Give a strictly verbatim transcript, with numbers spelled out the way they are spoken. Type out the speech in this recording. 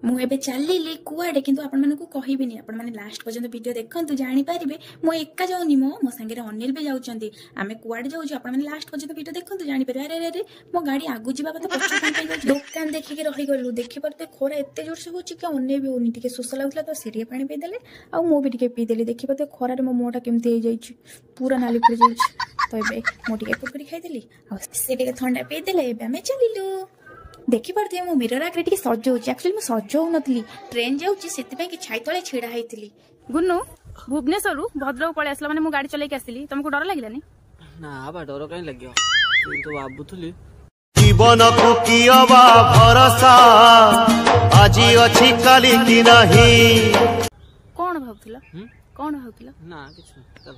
ମୁଁ ଏବେ ଚାଲିଲି କୁଆଡ଼େ, କିନ୍ତୁ ଆପଣମାନଙ୍କୁ କହିବିନି। ଆପଣମାନେ ଲାଷ୍ଟ ପର୍ଯ୍ୟନ୍ତ ଭିଡ଼ିଓ ଦେଖନ୍ତୁ, ଜାଣିପାରିବେ। ମୁଁ ଏକା ଯାଉନି, ମୋ ମୋ ସାଙ୍ଗରେ ଅନିଲ ବି ଯାଉଛନ୍ତି। ଆମେ କୁଆଡ଼େ ଯାଉଛୁ, ଆପଣମାନେ ଲାଷ୍ଟ ପର୍ଯ୍ୟନ୍ତ ଭିଡ଼ିଓ ଦେଖନ୍ତୁ, ଜାଣିପାରିବେ। ଆରେ ଆରେ ଆରେ, ମୋ ଗାଡ଼ି ଆଗକୁ ଯିବା କଥା, ପଛକୁ କଣ ପାଇଁ ଯାଉଛି? ଦୋକାନ ଦେଖିକି ରହିଗଲୁ। ଦେଖିପାରୁଥିବେ, ଖରା ଏତେ ଜୋରସେ ହେଉଛି କି ଅନେଇ ବି ହଉନି। ଟିକେ ଶୋଷ ଲାଗୁଥିଲା ତ ସେ ଟିକେ ପାଣି ପିଇଦେଲେ ଆଉ ମୁଁ ବି ଟିକେ ପିଇଦେଲି। ଦେଖିପାରୁଥିବେ, ଖରାରେ ମୋ ମୁହଁଟା କେମିତି ହେଇଯାଇଛି, ପୁରା ନାଲି ପଡ଼ିଯାଇଛି। ତ ଏବେ ମୁଁ ଟିକେ କୁରକୁରି ଖାଇଦେଲି ଆଉ ସେ ଟିକେ ଥଣ୍ଡା ପିଇଦେଲେ। ଏବେ ଆମେ ଚାଲିଲୁ। ଦେଖିପାରୁଥିବେ, ମୁଁ ମିରର ଆଗରେ ଟିକେ ସଜଉଛି। ଆକ୍ଚୁଆଲି ମୁଁ ସଜଉନଥିଲି, ଟ୍ରେନ୍ ଯାଉଛି ସେଥିପାଇଁ କି ଛାଇ ତଳେ ଛିଡା ହେଇଥିଲି। ଗୁନୁ, ଭୁବନେଶ୍ୱରରୁ ଭଦ୍ରକ ପଳେଇ ଆସିଲା, ମାନେ ମୁଁ ଗାଡି ଚଲେଇକି ଆସିଲି, ତମକୁ ଡର ଲାଗିଲାନି? ନା ବା, ଡର କାହିଁ ଲାଗିବ? କିନ୍ତୁ ଭାବୁଥିଲି। ଜୀବନକୁ କି ଅବା ଭରସା, ଆଜି ଅଛି କାଲି କି ନାହିଁ। କଣ ଭାବୁଥିଲ? ହୁଁ? କଣ ଭାବୁଥିଲ? ନା, କିଛି ନାହିଁ, ଚାଲ।